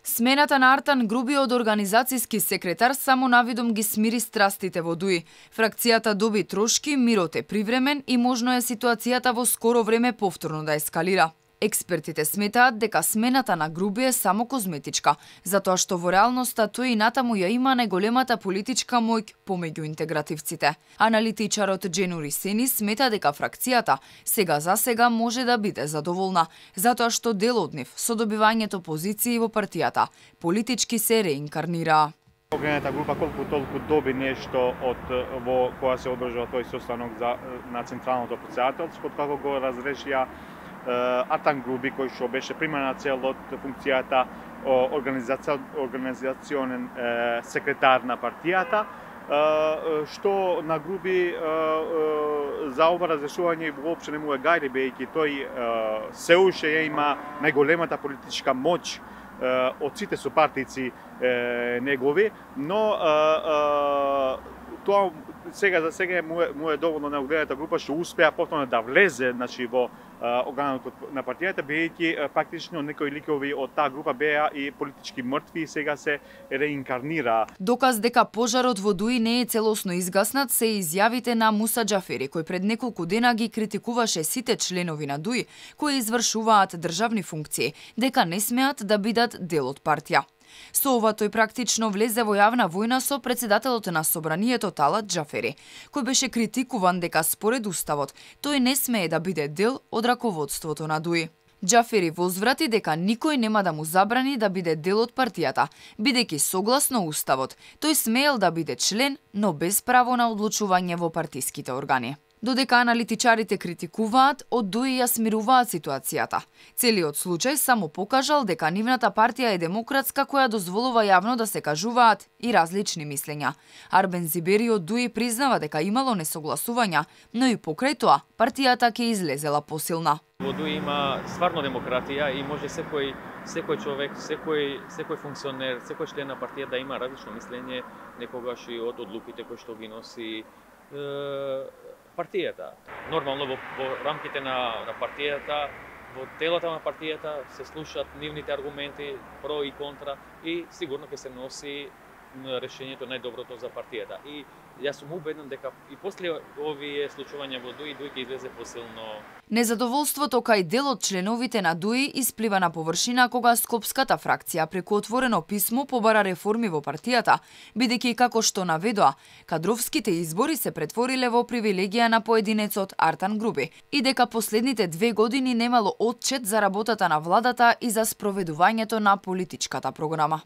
Смената на Артан Груби од организацијски секретар само навидом ги смири страстите во ДУИ. Фракцијата доби трошки, мирот е привремен и можно е ситуацијата во скоро време повторно да ескалира. Експертите сметаат дека смената на Груби е само козметичка, затоа што во реалноста тој и натаму ја има најголемата политичка моќ помеѓу интегративците. Аналитичарот Дженури Сени смета дека фракцијата сега за сега може да биде задоволна, затоа што дел од нив со добивањето позиции во партијата политички се реинкарнираа. Огранета група колку толку доби нешто од во која се одржува тој состанок на централното претседателство, како го разрешија Артан Груби, кој што беше примарна цел од функцијата организационен секретар на партијата, што на Груби за ова разрешување воопшто не му е гајде, бејќи тој се уште има најголемата политичка моќ од сите сопартици негови, но тоа сега за сега му е доволно на огранената група што успеа повторно да влезе, значи, во органот на партијата, бидејќи практично некои ликови од таа група беа и политички мртви и сега се реинкарнира. Доказ дека пожарот во ДУИ не е целосно изгаснат се изјавите на Муса Џафери, кој пред неколку дена ги критикуваше сите членови на ДУИ кои извршуваат државни функции, дека не смеат да бидат дел од партија. Со ова тој практично влезе во јавна војна со председателот на собранието Талат Џафери, кој беше критикуван дека според уставот тој не смее да биде дел од раководството на ДУИ. Џафери возврати дека никој нема да му забрани да биде дел од партијата, бидејќи согласно уставот тој смеел да биде член, но без право на одлучување во партиските органи. Додека аналитичарите критикуваат, од ДУИ ја смируваат ситуацијата. Целиот случај само покажал дека нивната партија е демократска која дозволува јавно да се кажуваат и различни мислења. Арбен Зибери од ДУИ признава дека имало несогласувања, но и покрај тоа партијата ќе излезела посилна. Во ДУИ има стварно демократија и може секој човек, секој функционер, секој член на партија да има различно мислење, некогаш и од одлуките кои што ги носи партијата. Нормално во рамките на партијата, во телата на партијата се слушаат нивните аргументи про и контра и сигурно ќе се носи решењето најдоброто за партијата. И јас сум убеден дека и после овие случувања во ДУИ ќе излезе посилно. Незадоволството кај дел од членовите на ДУИ исплива на површина кога скопската фракција преку отворено писмо побара реформи во партијата, бидејќи како што наведоа, кадровските избори се претвориле во привилегија на поединецот Артан Груби и дека последните 2 години немало отчет за работата на владата и за спроведувањето на политичката програма.